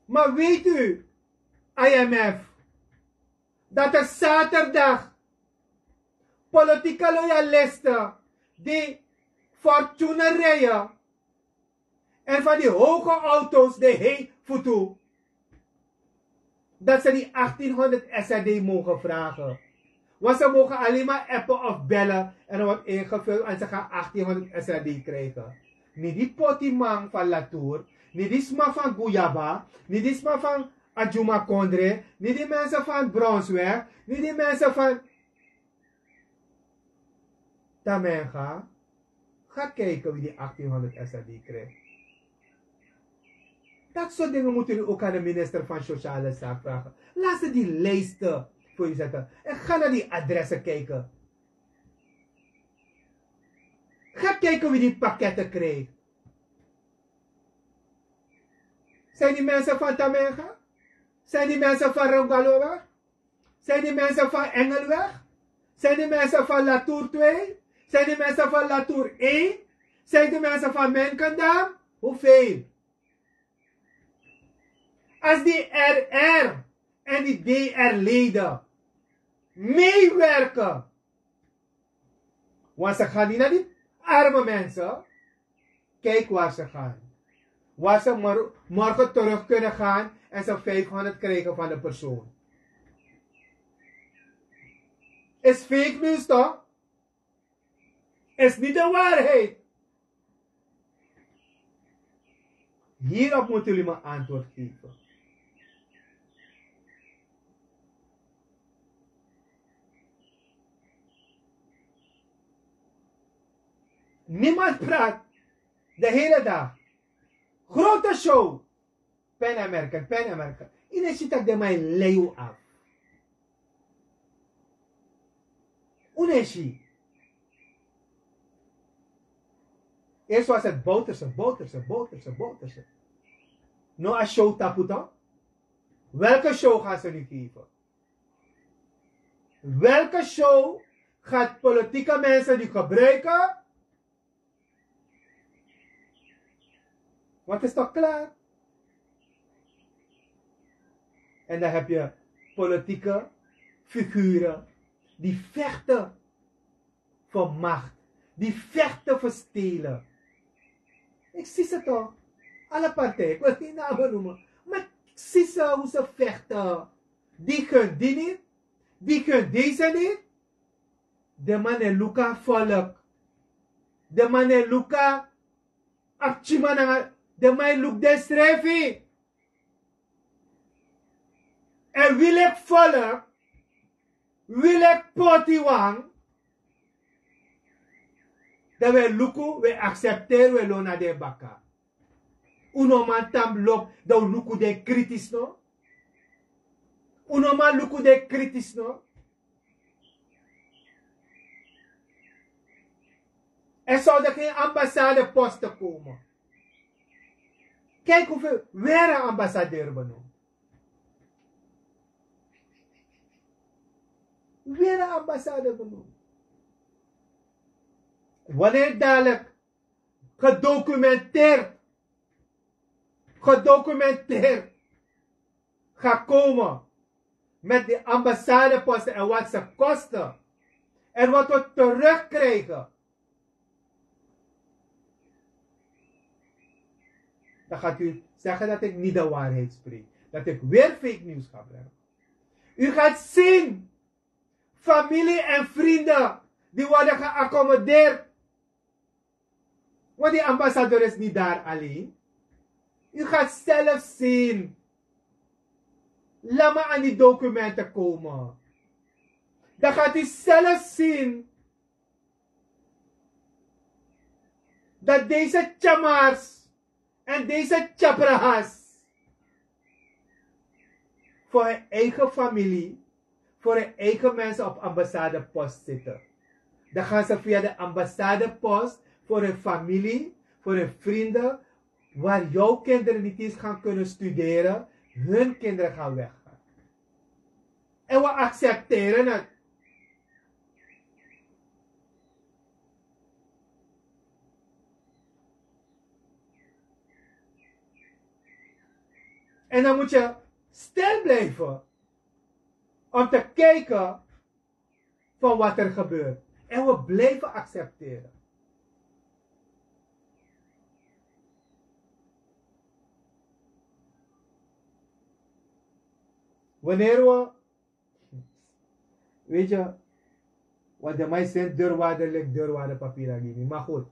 Maar weet u, I M F, dat er zaterdag politieke loyalisten die Fortuner rijden en van die hoge auto's de hei voetu, dat ze die achttienhonderd S R D mogen vragen. Want ze mogen alleen maar appen of bellen en er wordt ingevuld en ze gaan achttienhonderd S R D krijgen. Niet die potiman van Latour, niet die sma van Guyaba, niet die sma van Adjuma Kondre, niet die mensen van Bronsweg, niet die mensen van Tamenga, ga kijken wie die achttienhonderd S R D krijgt. Dat soort dingen moeten jullie ook aan de minister van Sociale Zaken vragen. Laat ze die lijsten voor u zetten. En ga naar die adressen kijken. Ga kijken wie die pakketten krijgt. Zijn die mensen van Tamenga? Zijn die mensen van Rongaloa? Zijn die mensen van Engelweg? Zijn die mensen van Latour twee? Zijn die mensen van Latour één? Zijn die mensen van Menkendam? Hoeveel? Als die R R en die D R-leden meewerken, want ze gaan niet naar die arme mensen. Kijk waar ze gaan. Waar ze mor- morgen terug kunnen gaan en ze vijfhonderd krijgen van de persoon. Is fake news toch? Is niet de waarheid. Hierop moeten jullie me antwoord geven. Niemand praat de hele dag. Grote show. Pen American, Pen American. Yu no e si tak' den man e lei yu af. Un no e si. Eerst was het Bouterse, Bouterse, Bouterse, Bouterse. No a show tapu toch? Welke show gaan ze nu geven? Welke show gaat politieke mensen nu gebruiken? Want het is toch klaar? En dan heb je politieke figuren die vechten voor macht, die vechten voor stelen. Ik zie ze toch. Alle partijen, ik wil geen namen noemen. Maar ik zie ze hoe ze vechten. Die gunt die niet. Die gunt deze niet. Den man e luku a volk. Den man e luku a pikinman nanga, den man e luku densrefi. Èn wi leki volk, wi leki potiwan, dan wi e luku, wi e aksepteri, wi e lon na den baka. Un no man tan lobi, dan un luku den kritisch no. Un no man luku den kritisch no. Er zouden geen ambassadeposten komen. Kijk hoeveel, weer een ambassadeur benoemd. Weer een ambassade benoemd. Wanneer dadelijk gedocumenteerd, gedocumenteerd gaat komen met die ambassadeposten en wat ze kosten en wat we terugkrijgen, dan gaat u zeggen dat ik niet de waarheid spreek. Dat ik weer fake news ga brengen. U gaat zien, familie en vrienden die worden geaccommodeerd. Want die ambassadeur is niet daar alleen. U gaat zelf zien. Laat me aan die documenten komen. Dan gaat u zelf zien dat deze Tjamars en deze Tjabrahas voor hun eigen familie, voor hun eigen mensen op ambassadepost zitten. Dan gaan ze via de ambassadepost voor hun familie, voor hun vrienden, waar jouw kinderen niet eens gaan kunnen studeren, hun kinderen gaan weggaan. En we accepteren het. En dan moet je stil blijven om te kijken van wat er gebeurt. En we blijven accepteren. Wanneer we, weet je, wat de man zegt, deurwaarder ligt deurwaarder papier aan. Maar goed.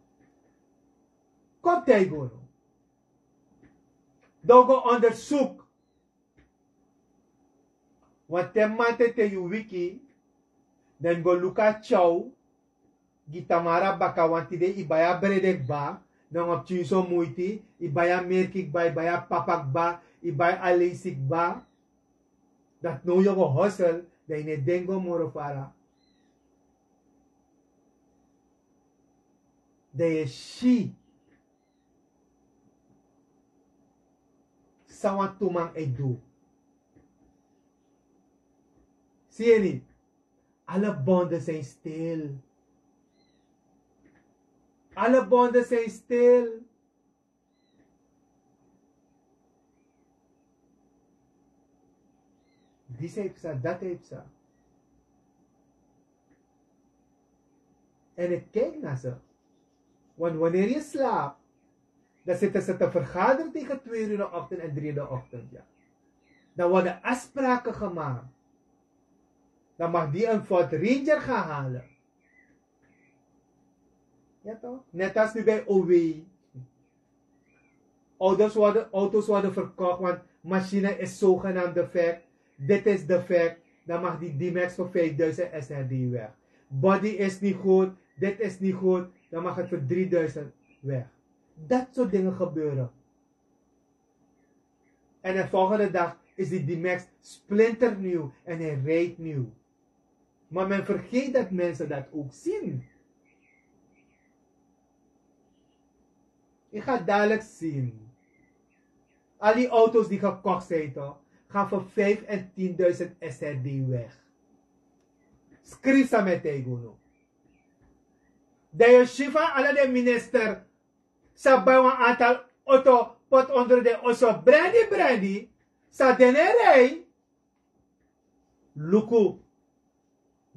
Komt hij gewoon. Dan go onderzoek. Want te maman tete yu wiki, dan go luku a tyaw gi Tamara baka. Want tide i bai a brede kba, nanga pikinso muiti, i bai a merki kba, i bai a papa kba, i bai a leisi kba. Dati now yu o go hosel, dan i no e denki go moro fara. Dan yu e si san wan tu man e du. Si yu en niet? Alle bonden zijn stil. Alle bonden zijn stil. Disi e psa, dati e psa. En ik kijk naar ze. Want wanneer je slaapt, dan zitten ze te vergaderen tegen twee uur in de ochtend en drie in de ochtend. Ja. Dan worden afspraken gemaakt. Dan mag die een Ford Ranger gaan halen. Ja toch? Net als nu bij O W. Auto's worden, auto's worden verkocht, want machine is zogenaamd defect. Dit is defect. Dan mag die D-Max voor vijfduizend S R D weg. Body is niet goed. Dit is niet goed. Dan mag het voor drieduizend weg. Dat soort dingen gebeuren. En de volgende dag is die D-Max splinternieuw en hij rijdt nieuw. Maar men vergeet dat mensen dat ook zien. Je gaat dadelijk zien. Al die auto's die gekocht zijn, toch, gaan voor vijf en tienduizend S R D weg. Skrisa met Taigono. De Yoshifa, alle de minister, sa bai wan aantal auto, pot onder de oso, brandy, brandy, sa dene rij. Luku,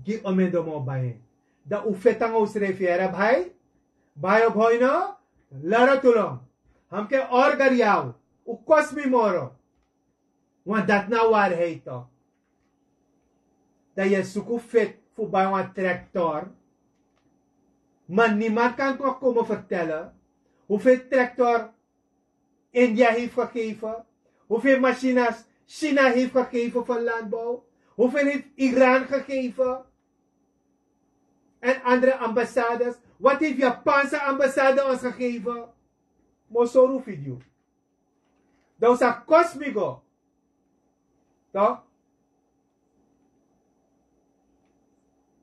gi omendo mo bai. Dan un feti nanga unsrefi, yere bai. Bai op hoino, laro tulong. Hamke orger yau, un kosi mi moro. Want dat na waarheid toch. Dan je suku feti fu bai wan tractor. Maar niemand kan toch komen vertellen hoeveel tractor India heeft gegeven? Hoeveel machines China heeft gegeven voor landbouw? Hoeveel heeft Iran gegeven? En andere ambassades. Wat heeft Japanse ambassade ons gegeven? Mosoru video. Dan sa kosi mi go. Toch?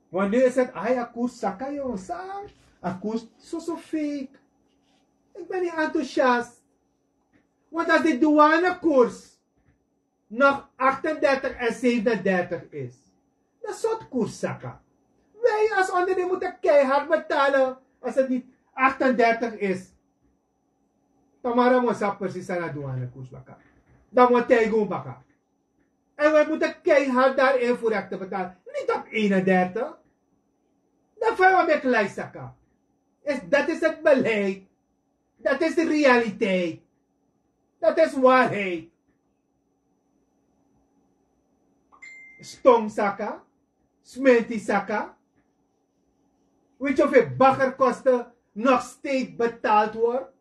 Want nu is het, ai, a koers saka, jongen, sa. A koers so, so fake. Ik ben niet enthousiast. Want als de douanekoers nog achtendertig en zevenendertig is, dan soort koers saka. Wij als onderdeel moeten keihard betalen als het niet achtendertig is. Tamara mo sa precies san a douanekoers baka. Dan mo tijgen baka. En wij moeten keihard daarin voor rechten betalen. Niet op eenendertig. Dan fijn we met lijstsaka. Is, dat is het beleid. Dat is de realiteit. Dat is waarheid. Stongsaka, smentisaka. Weet je hoeveel baggerkosten nog steeds betaald wordt?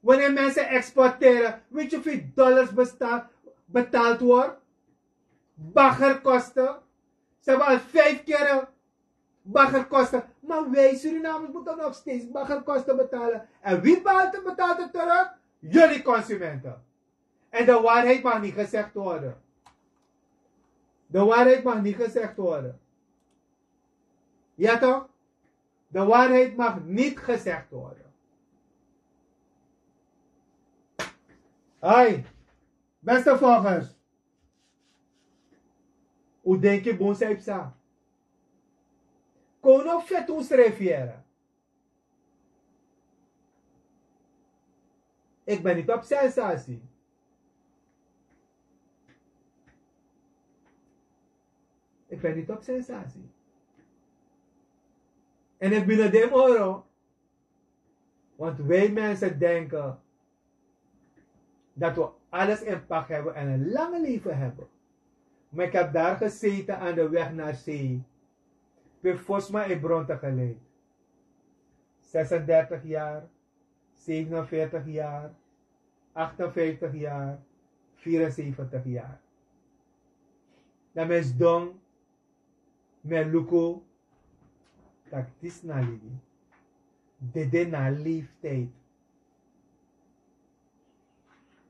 Wanneer mensen exporteren, weet je hoeveel dollars besta- betaald wordt? Baggerkosten. Ze hebben al vijf keer baggerkosten. Maar wij Surinamers moeten nog steeds baggerkosten betalen. En wie betaalt, betaalt het terug? Jullie consumenten. En de waarheid mag niet gezegd worden. De waarheid mag niet gezegd worden. Ja toch? De waarheid mag niet gezegd worden. Hai, beste volgers. Un denki bun san e psa. Kon un no feti unsrefi yere. Ik ben niet op sensatie. Ik ben niet op sensatie. En ik ben de moro. Want wij mensen denken dat we alles in pak hebben en een lange leven hebben. Maar ik heb daar gezeten aan de weg naar zee. Pe fosma e bronte geleid. Zesendertig jaar, zevenenveertig jaar, achtenvijftig jaar, vierenzeventig jaar. Dan mi sidon, mi e luku taki disi na libi. Dede na leeftijd.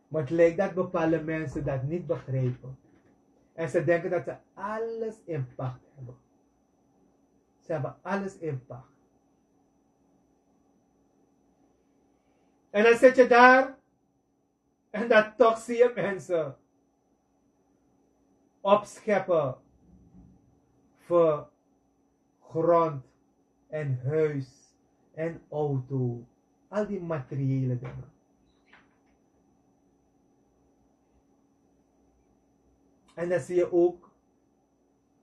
Maar het lijkt dat bepaalde mensen dat niet begrijpen. En ze denken dat ze alles in pacht hebben. Ze hebben alles in pacht. En dan zit je daar en dan toch zie je mensen opscheppen voor grond en huis en auto. Al die materiële dingen. En dan zie je ook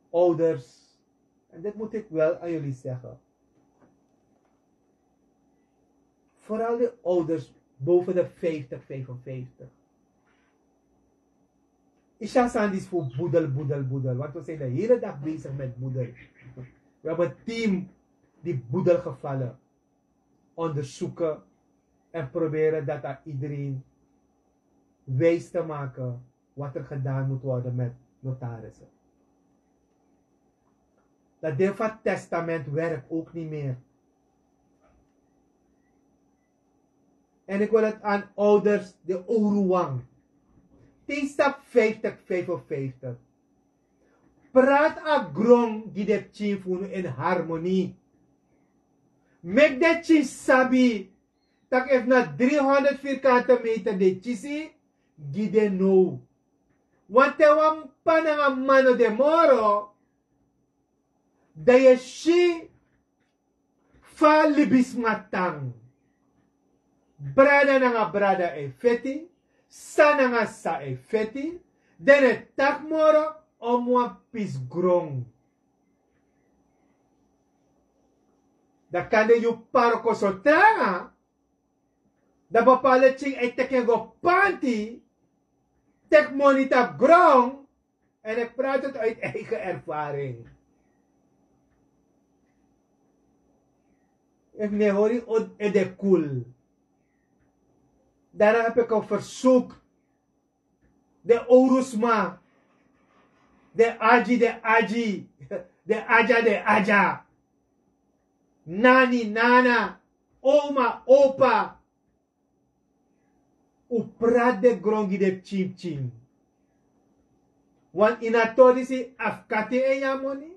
ouders, en dit moet ik wel aan jullie zeggen, vooral de ouders boven de vijftig, vijfenvijftig. Isha Sandis voor boedel, boedel, boedel. Want we zijn de hele dag bezig met boedel. We hebben een team die boedelgevallen onderzoeken en proberen dat aan iedereen wijs te maken wat er gedaan moet worden met notarissen. Dat deel van testament werkt ook niet meer. En ik wil het aan ouders, de oruwang. Tien stap vijftig, vijfenvijftig. Praat a grong die de pikin fu unu in harmonie. Make de pikin sabi tak' efu na driehonderd vierkante meter de kisi, gi den now. Want te wan p'pa nanga m'ma no de moro, dan yu e si fa libisma tan. Brada nanga brada e feti, sa nanga sa e feti, den e taki moro om wan pisi gron. Dan kande yu p'pa wroko so tranga, dan bepaalde pikin e teki en go panti, teki moni tapu gron, en ik praat het uit eigen ervaring. Efu mi e hori ede kul. Daarom heb ik een verzoek. Den owru sma, den agi, den agi, den aja, den aja, nani, nana, oma, opa, un prati den gron gi den pikin pikin. Wan ini a tori disi a fu kati en yu a moni.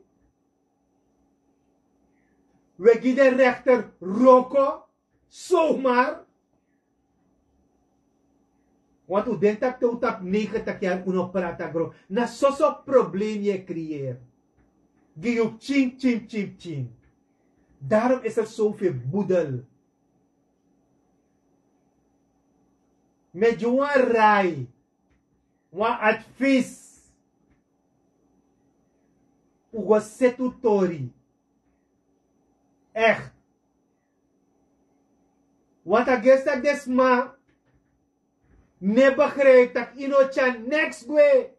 Un e gi den rekter wroko, somar. Want un denki tak' te un tapu negentig yari un no prati a gron. Na soso problem yu e kriyeri gi yu pikin pikin pikin pikin. Daarom is er zoveel boedel. Mi e gi wan rai, wan advies. Un go seti un tori. Echt. Want a gesi tak' den sma no e begrijpi tak' yu no tyari neks gwe.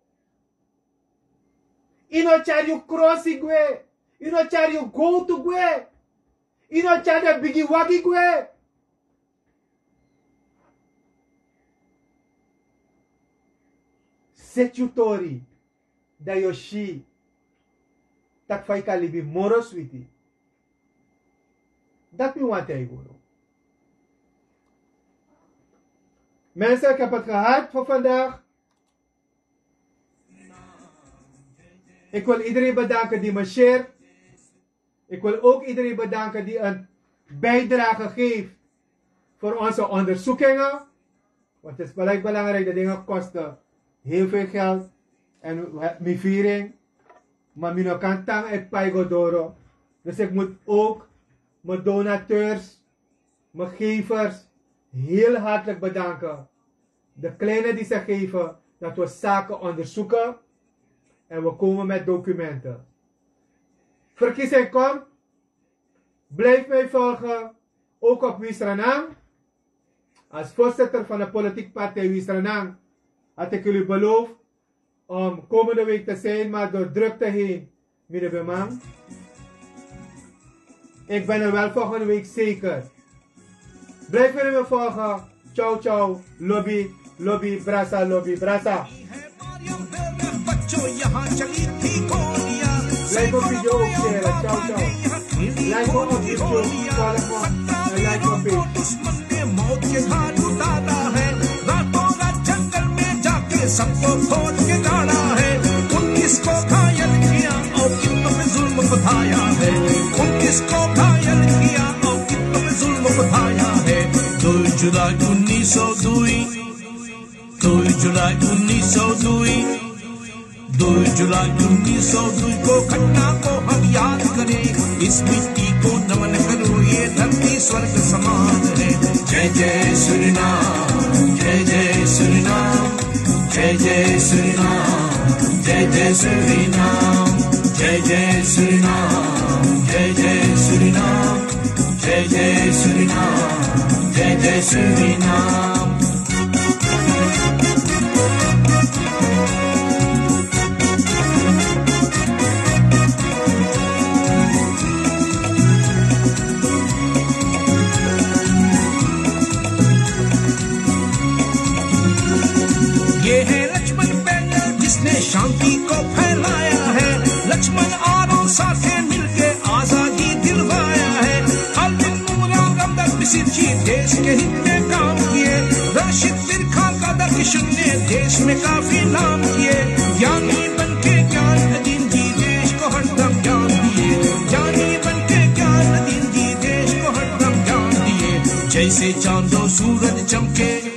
Yu no tyari yu krosi gwe. Yu no tyari yu gowtu gwe. Yu no tyari den bigi wagi gwe. Seti yu tori, dan yu o si tak' fa yu kan libi moro switi. Dati mi wani taigi unu. Mensen, ik heb het gehad voor vandaag. Ik wil iedereen bedanken die me share. Ik wil ook iedereen bedanken die een bijdrage geeft voor onze onderzoekingen. Want het is gelijk belangrijk, de dingen kosten heel veel geld. En we hebben viering, maar mi no kan tan e pai go doro. Dus ik moet ook mijn donateurs, mijn gevers heel hartelijk bedanken. De kleine die ze geven, dat we zaken onderzoeken en we komen met documenten. Verkiezing komt. Blijf mij volgen, ook op Wisranang. Als voorzitter van de politieke partij Wisranang had ik jullie beloofd om komende week te zijn, maar door drukte heen, mi no ben man. Ik ben er wel volgende week zeker. Blijf me volgen. Ciao, ciao. Lobi, lobi, brasa, lobi, brasa. Like op video ook share. Ciao, ciao. Like op YouTube, follow me en like op page. Dui July unniso dui, dui July unniso dui ko ghatna ko hum yaad kare. Is mitti ko naman karu, ye dharti swarg saman hai. Jai jai Surinam, jai jai Surinam, jai jai Surinam, jai जय श्री राम, जय जय श्री राम, जय जय श्री राम, जय जय श्री राम, जय जय श्री राम। ये है लक्ष्मण पैनल जिसने शांति को फैलाया है। लक्ष्मण और साथे मिलके आजादी दिलवाया है। अरविंद, मूलराम, रामदास मिसिर जी देश के हित में काम किए। राशिद बिरखा, दादा किशुन ने देश में काफी नाम किए। ज्ञानी बन के ज्ञान अदीन जी देश को हरदम ज्ञान दिए। ज्ञानी बन के ज्ञान अदीन जी देश को हरदम ज्ञान दिए। जैसे चांद और सूरज चमके,